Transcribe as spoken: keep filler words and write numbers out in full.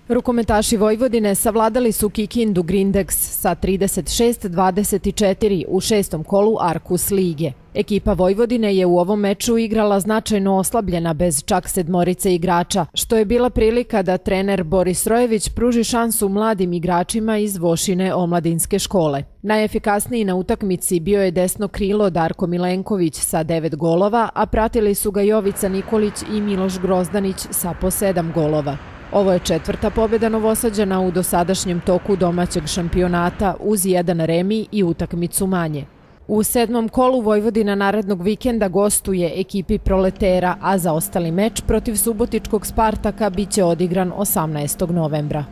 Rukometaši Vojvodine savladali su Kikindu Grindex sa trideset šest dvadeset četiri u šestom kolu Arkus lige. Ekipa Vojvodine je u ovom meču igrala značajno oslabljena bez čak sedmorice igrača, što je bila prilika da trener Boris Rojević pruži šansu mladim igračima iz Vošine omladinske škole. Najefikasniji na utakmici bio je desno krilo Darko Milenković sa devet golova, a pratili su ga Jovica Nikolić i Miloš Grozdanić sa po sedam golova. Ovo je četvrta pobjeda Novosađana u dosadašnjem toku domaćeg šampionata uz jedan remi i utakmicu manje. U sedmom kolu Vojvodina narednog vikenda gostuje ekipi Proletera, a zaostali meč protiv subotičkog Spartaka biće odigran osamnaestog novembra.